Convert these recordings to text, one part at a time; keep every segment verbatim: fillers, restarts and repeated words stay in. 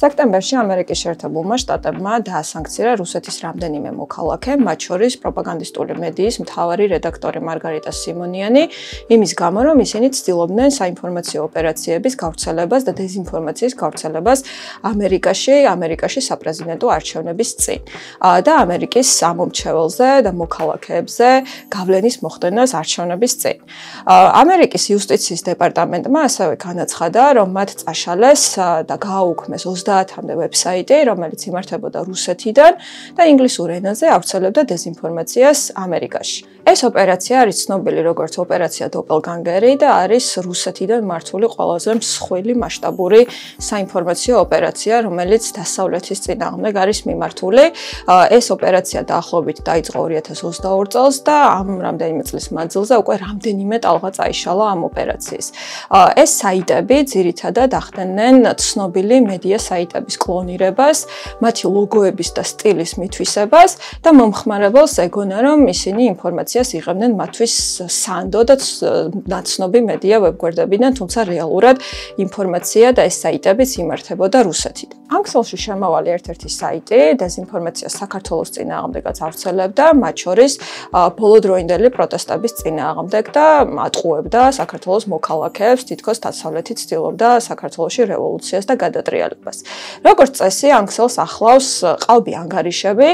სექტემბერში ამერიკის შეერთებულმა შტატებმა დაასანქცია რუსეთის რამდენიმე მოქალაქე, მათ შორის პროპაგანდისტული მედიის მთავარი რედაქტორი მარგარიტა სიმონიანი, იმის გამო, რომ ისინი ცდილობდნენ საინფორმაციო ოპერაციების გავრცელებას და დეზინფორმაციის გავრცელებას ამერიკაში, ამერიკაში საპრეზიდენტო არჩევნების წინ და ამერიკის სამომრჩეველზე და მოქალაქეებზე გავლენის მოხდენას არჩევნების წინ. ამერიკის იუსტიციის დეპარტამენტმა ასევე განაცხადა, რომ მათ წაშალეს და გააუქმეს ოცდაათამდე ვებსაიტი, რომელიც იმართებოდა რუსეთიდან და ინგლისურ ენაზე ავრცელებდა დეზინფორმაციას ამერიკაში. ეს ოპერაცია არის ცნობილი როგორც ოპერაცია დოპელგანგერი და არის რუსეთიდან მართული ყველაზე მსხვილი მასშტაბური საინფორმაციო ოპერაცია, რომელიც დასავლეთის წინააღმდეგ არის მიმართული. ეს ოპერაცია დაახლოებით დაიწყო ორი ათას ოცდაორი წელს და ამ რამდენიმე წლის მანძილზე უკვე რამდენიმე ტალღა წაიშალა ამ ოპერაციის. ეს საიტები ძირითადად ახდენენ ცნობილი მედია საიტების კლონირებას, მათი ლოგოების და სტილის მითვისებას და მომხმარებელს ეგონა, რომ ისინი ინფორმაციას იღებდნენ მათთვის სანდო და ნაცნობი მედია ვებგვერდებიდან, თუმცა რეალურად ინფორმაცია და ეს საიტებიც იმართებოდა რუსეთიდან. ამ ქსელში შემავალი ერთ-ერთი საიტი დეზინფორმაციას საქართველოს წინააღმდეგაც ავრცელებდა, მათ შორის ბოლოდროინდელი პროტესტების წინააღმდეგ და ატყუებდა საქართველოს მოქალაქეებს, თითქოს დასავლეთი ცდილობდა საქართველოში რევოლუციას და გადატრიალებას. როგორც წესი, ამ ქსელს ახლავს ყალბი ანგარიშები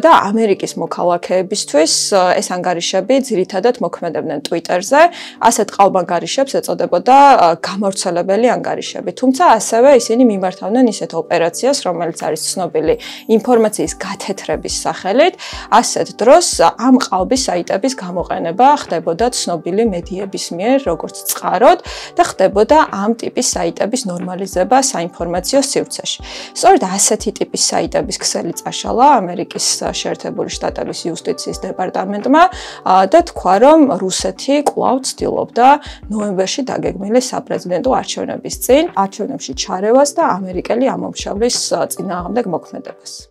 და ამერიკის მოქალაქეებისთვის ეს ანგარიშები ძირითადად მოქმედებდნენ Twitter-ზე, ასეთ ყალბ ანგარიშებს ეწოდებოდა გამავრცელებელი ანგარიშები. თუმცა ასევე ისინი მიმართავდნენ ისეთ ოპერაციას, რომელიც არის ცნობილი ინფორმაციის გათეთრების სახელით, ასეთ დროს ამ ყალბის საიტების გამოყენება ხდებოდა ცნობილი მედიების მიერ, როგორც წყაროდ და ხდებოდა ამ ტიპის საიტების ნორმალიზება საინფორმაციო სივრცეში. სწორედ ასეთი ტიპის საიტების ქსელი წაშალა ამერიკის შეერთებული შტატების იუსტიციის დეპარტამენტმა და თქვა, რომ რუსეთი კვლავ ცდილობდა ნოემბერში დაგეგმილი საპრეზიდენტო არჩევნების წინ არჩევნებში ჩარევას და ამერიკელი ამომრჩევლის წინააღმდეგ მოქმედებას.